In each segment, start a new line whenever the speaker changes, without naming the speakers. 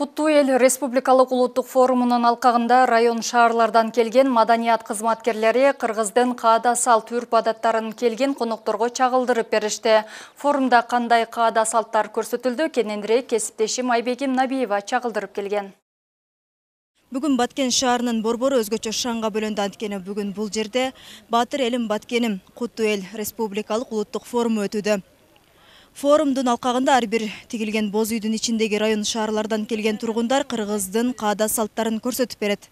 Куттуу эл республикалык улуттук форумунун алкагында район шаарлардан келген маданият кызматкерлери кыргыздын каада салт үрп адаттарын келген конокторго чагылдырып беришти. Форумда кандай каада салттар көрсөтүлдү, кененирээк кесиптешим Айбегим Набиева чагылдырып келген.
Бүгүн Баткен шаарынын борбору өзгөчө шаңга бөлөндү. Анткени бүгүн бул жерде Баатыр элим Баткеним Куттуу эл республикалык улуттук форуму өтүүдө. Форумдун алкагында ар бир тигилген боз үйдүн ичиндеги район шаарлардан келген тургундар кыргыздын каада салттарын көрсөтүп берет.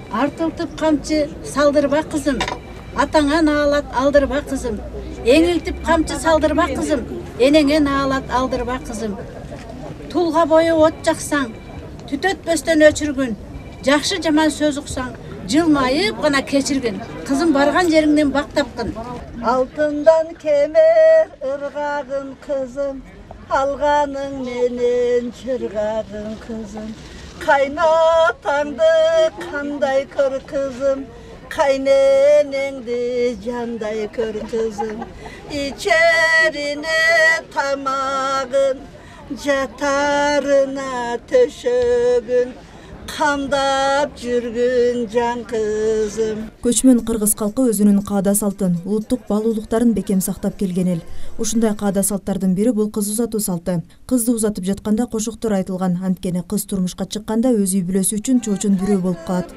Артылтып камчы салдырба кызым, атаңа наалат алдырба кызым. Эңилтип камчы салдырба кызым, энеңе наалат алдырба кызым. Тулга бою от жаксаң, түтөтпөстөн өчүргүн. Жакшы жаман сөз уксаң, жылмайып гана кечиргин. Кызым барган жериңден бак тапкын.
Алтындан кемер ыргагын кызым, алганың менен чыргагын кызым. Кайнатаңды кандай көр кызым, кайненеңди жандай көр кызым. Ичерине тамагын, жатарына төшөгүн. Камдап жүргүн жан кызым.
Көчмөн кыргыз калкы өзүнүн каада салтын, улуттук баалуулуктарын бекем сактап келген эл. Ушундай каада салттардын бири бул кыз узатуу салты. Кызды узатып жатканда кошоктор айтылган. Анткени кыз турмушка чыкканда өз үй бүлөсү үчүн чоочун бирөө болуп калат.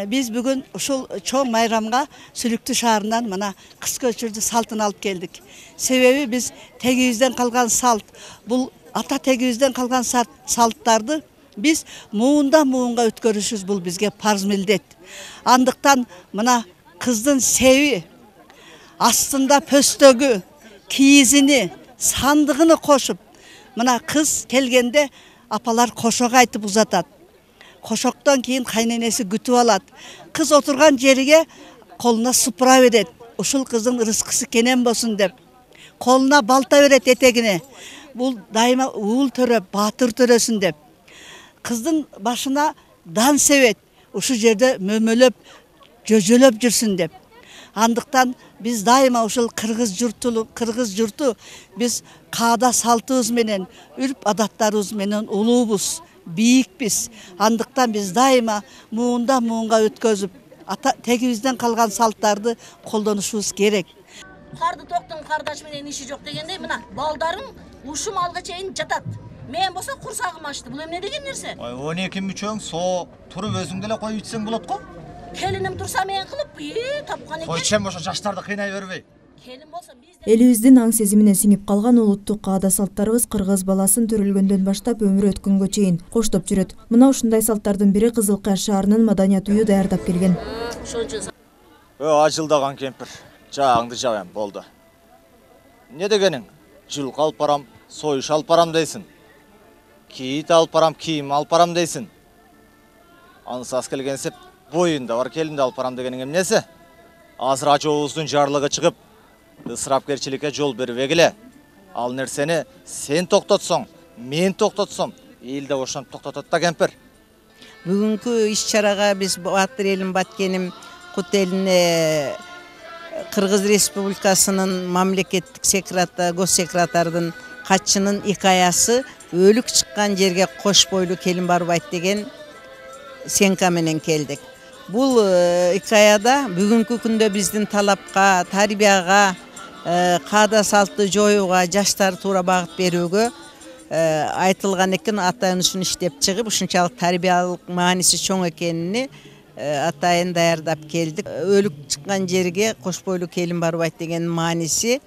Биз бүгүн ушул чоң майрамга Сүлүктүү шаарынан мына кыз көчүрдү салтын алып келдик. Себеби биз тегибизден калган салт, бул ата тегибизден калган салттарды биз муундан муунга өткөрүшүбүз бул бизге парз милдет. Андыктан мына кыздын себи, астында пөстөгү, кийизини, сандыгыны кошуп, мына кыз келгенде апалар кошок айтып узатат. Кошоктон кийин кайненеси күтүп алат. Кыз отурган жериге колуна супура берет. Ушул кыздын рызкысы кенен болсун деп. Колуна балта берет этегине. Бул дайыма уул төрө, баатыр төрөсүн деп. Кыздын башына дан себет, ушу жерде мөмөлөп, жөжөлөп жүрсүн деп. Андыктан биз дайыма ушул кыргыз журту биз каада салтыбыз менен, үрп адаттарыбыз менен улуубуз, бийикпиз. Андыктан биз дайыма муундан муунга өткөзүп, тегибизден калган салттарды колдонушубуз керек.
Карды токтун кардаш менен иши жок дегендей, мына балдарым ушум алга чейин жатат. Мен болсо курсагым ачты. Бул эмне деген нерсе?
12 мүчөң со туруп өзүң деле коюп ичсең болот го.
Келиним турса мен кылып, тапкан экен.
Койчем ошо жаштарды кыйнай бербей.
Келин болсо биз
Элибиздин аң сезимине сиңип калган улуттук каада салттарыбыз кыргыз баласын төрөлгөндөн баштап өмүрү өткөнгө чейин коштоп жүрөт. Мына ушундай салттардын бири Кызыл Кая шаарынын маданият үйү даярдап келген.
Ажылдаган кемпир, жаагыңды жабам болду. Не дегениң? Жылкы алып барам, союш алып барам дейсин. Кийит алып барам, кийим алып барам дейсин. Ансас келгенсеп боюнда бар келинди алып барам дегениң эмнеси? Азыр ажообуздун жарлыгы чыгып, ысырапкерчиликке жол бербегиле. Ал нерсени сен токтотсоң, мен токтотсом, эл да ошону токтотот да кемпир.
Бүгүнкү иш-чарага биз Баатыр элим Баткеним Кут элине Кыргыз Республикасынын мамлекеттик госсекретардын катчынын икаясы өлүк чыккан жерге кош бойлуу келин барбайт деген сенка менен келдик. Бул икаяда бүгүнкү күндө биздин талапка, тарбияга, каада салтты жоюуга, жаштар туура багыт берүүгө айтылган экен. Атайын ушуну иштеп чыгып, ушунчалык тарбиялык мааниси чоң экенини атайын даярдап келдик. Өлүк чыккан жерге кош бойлуу келин барбайт деген мааниси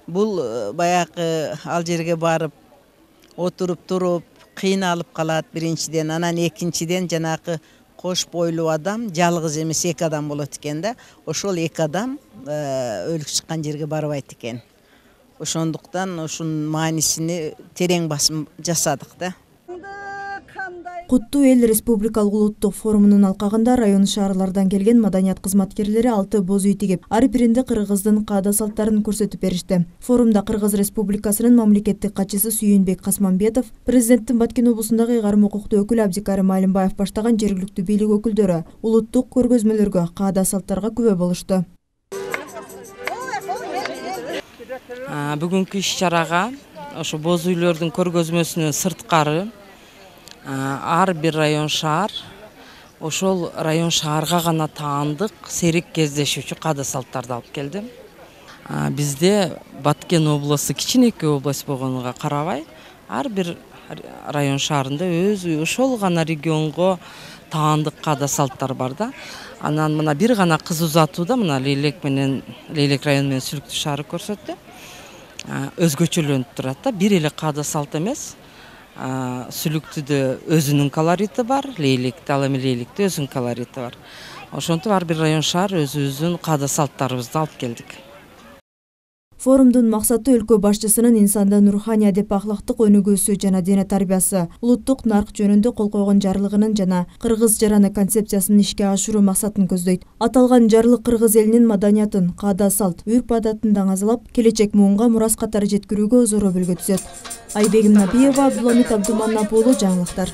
бул баягы ал жерге барып отуруп туруп кыйналып калат биринчиден, анан экинчиден жанагы кош бойлуу адам жалгыз эмес эки адам болот экен да. Ошол эки адам өлүк чыккан жерге барбайт экен. Ошондуктан ушунун маанисини терең басым жасадык да.
Куттуу эл республикалык улуттук форумунун алкагында район шаарлардан келген маданият кызматкерлери 6 боз үй тигип, ар биринде кыргыздын каада салттарын көрсөтүп беришти. Форумда Кыргыз Республикасынын мамлекеттик катчысы Сүйүнбек Касманбетов, президенттин Баткен облусундагы ыйгарым укуктуу өкүлү Абдикарим Алимбаев баштаган жергиликтүү бийлик өкүлдөрү улуттук көргөзмөлөргө, каада салттарга күбө болушту.
Бүгүнкү иш-чарага ошо боз үйлөрдүн көргөзмөсүнөн сырткары ар бир район шаар ошол район шаарга гана таандык серик кездешүүчү каада салттарды алып келдим. Бизде Баткен областу кичинекей область болгонуна карабай, ар бир район шаарында ошол гана регионго таандык каада салттар бар да. Анан мына бир гана кыз узатууда мына Лейлек району менен Сүлүктүү шаары көрсөттү. Өзгөчөлөнүп турат да. Бир эле каада салт эмес. Сүлүктүдө өзүнүн колорити бар, Лейликте, ал эми Лейликте өзүнүн колорити бар. Ошентип ар бир район шаар өзүбүздүн каада салттарыбызды алып келдик.
Форумдун максаты өлкө башчысынын инсандын руханий адеп ахлактык өнүгүүсү жана дене тарбиясы, улуттук нарк жөнүндө кол койгон жарлыгынын жана кыргыз жараны концепциясынын ишке ашыруу максатын көздөйт. Аталган жарлык кыргыз элинин маданиятын, каада салт, үрп адатын даңазалап, келечек муунга мурас катары жеткирүүгө зор өбөлгө түзөт. Айбегим Набиева, Абдуламит Абдуманап уулу, жаңылыктар.